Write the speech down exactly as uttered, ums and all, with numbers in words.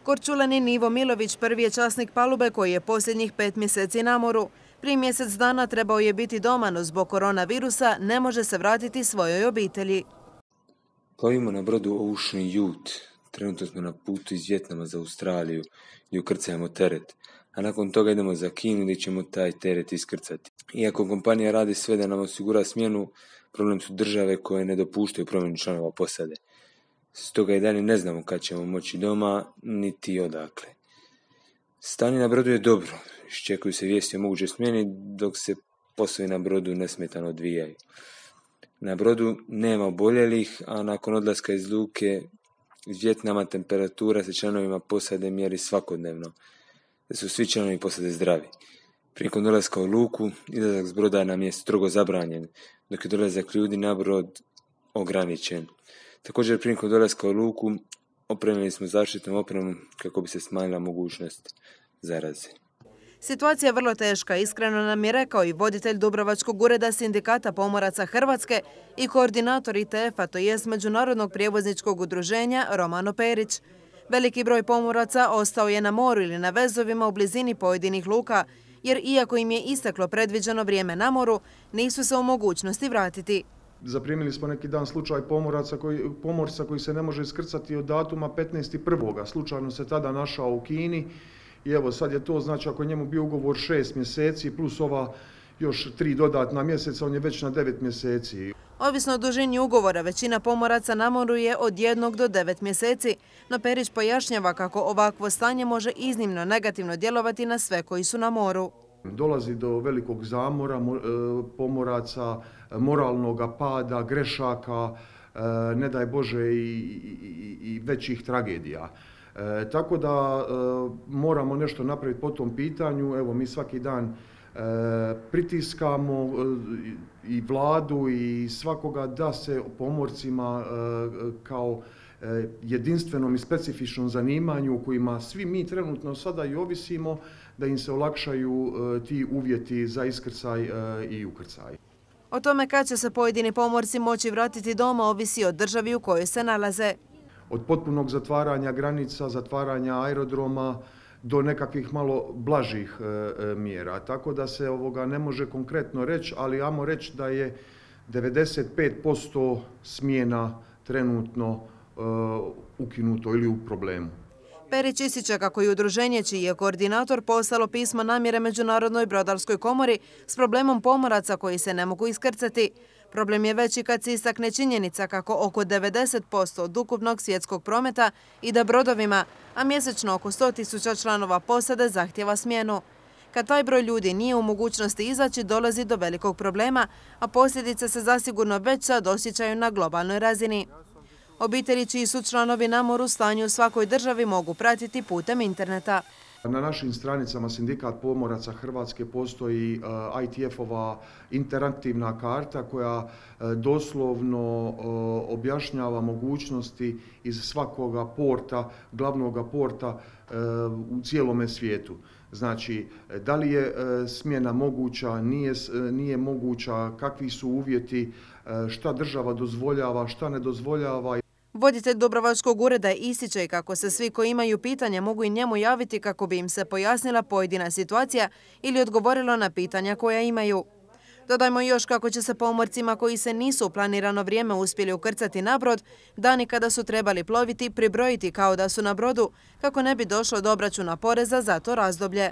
Korčulanin Ivo Milović prvi je časnik palube koji je posljednjih pet mjeseci na moru. Prije mjesec dana trebao je biti doma, no zbog koronavirusa ne može se vratiti svojoj obitelji. Plovimo na brodu Ocean Youth. Trenutno smo na putu iz Vijetnama za Australiju i ukrcajemo teret, a nakon toga idemo za Kinu gdje ćemo taj teret iskrcati. Iako kompanija radi sve da nam osigura smjenu, problem su države koje ne dopuštaju promjenu članova posade. Stoga i dalje ne znamo kad ćemo moći doma, niti odakle. Stanje na brodu je dobro, iščekuju se vijesti o mogućoj smjeni dok se poslovi na brodu nesmetano odvijaju. Na brodu nema oboljelih, a nakon odlaska iz luke iz Vijetnama temperatura se članovima posade mjeri svakodnevno, da su svi članovi posade zdravi. Prilikom dolaska u luku, izlazak s broda nam je strogo zabranjen, dok je dolazak ljudi na brod ograničen. Također prilikom dolaska u luku opremili smo zaštitnom opremom kako bi se smanjila mogućnost zaraze. Situacija je vrlo teška, iskreno nam je rekao i voditelj Dubrovačkog ureda Sindikata pomoraca Hrvatske i koordinator I T F-a, to jest Međunarodnog prijevozničkog udruženja, Romano Perić. Veliki broj pomoraca ostao je na moru ili na vezovima u blizini pojedinih luka, jer iako im je isteklo predviđeno vrijeme na moru, nisu se u mogućnosti vratiti. Zaprimili smo neki dan slučaj pomoraca koji, pomorca koji se ne može iskrcati od datuma petnaesti prvog Slučajno se tada našao u Kini i evo sad je to, znači ako je njemu bio ugovor šest mjeseci plus ova još tri dodatna mjeseca, on je već na devet mjeseci. Ovisno o dužini ugovora, većina pomoraca na moru je od jednog do devet mjeseci, no Perić pojašnjava kako ovakvo stanje može iznimno negativno djelovati na sve koji su na moru. Dolazi do velikog zamora pomoraca, moralnog pada, grešaka, ne daj Bože i, i, i većih tragedija. E, tako da e, moramo nešto napraviti po tom pitanju. Evo, mi svaki dan e, pritiskamo e, i vladu i svakoga da se pomorcima e, kao e, jedinstvenom i specifičnom zanimanju u kojima svi mi trenutno sada i ovisimo, da im se olakšaju e, ti uvjeti za iskrcaj e, i ukrcaj. O tome kad će se pojedini pomorci moći vratiti doma ovisi od državi u kojoj se nalaze. Od potpunog zatvaranja granica, zatvaranja aerodroma do nekakvih malo blažih e, mjera. Tako da se ovoga ne može konkretno reći, ali ajmo reći da je devedeset pet posto smjena trenutno e, ukinuto ili u problemu. Perić ističe kako je udruženje, čiji je koordinator, poslalo pismo namjere Međunarodnoj brodarskoj komori s problemom pomoraca koji se ne mogu iskrcati. Problem je veći kad se istakne činjenica kako oko devedeset posto od ukupnog svjetskog prometa ide brodovima, a mjesečno oko sto tisuća članova posade zahtjeva smjenu. Kad taj broj ljudi nije u mogućnosti izaći, dolazi do velikog problema, a posljedice se zasigurno već sad osjećaju na globalnoj razini. Obitelji čiji su članovi na moru stanje u svakoj državi mogu pratiti putem interneta. Na našim stranicama Sindikat pomoraca Hrvatske postoji uh, I T F-ova interaktivna karta koja uh, doslovno uh, objašnjava mogućnosti iz svakoga porta, glavnog porta uh, u cijelome svijetu. Znači, da li je uh, smjena moguća, nije, uh, nije moguća, kakvi su uvjeti, uh, šta država dozvoljava, šta ne dozvoljava. Voditelj Dubrovačkog ureda ističe i kako se svi koji imaju pitanja mogu i njemu javiti kako bi im se pojasnila pojedina situacija ili odgovorilo na pitanja koja imaju. Dodajmo još kako će se pomorcima koji se nisu u planirano vrijeme uspjeli ukrcati na brod, dani kada su trebali ploviti pribrojiti kao da su na brodu, kako ne bi došlo do obračuna poreza za to razdoblje.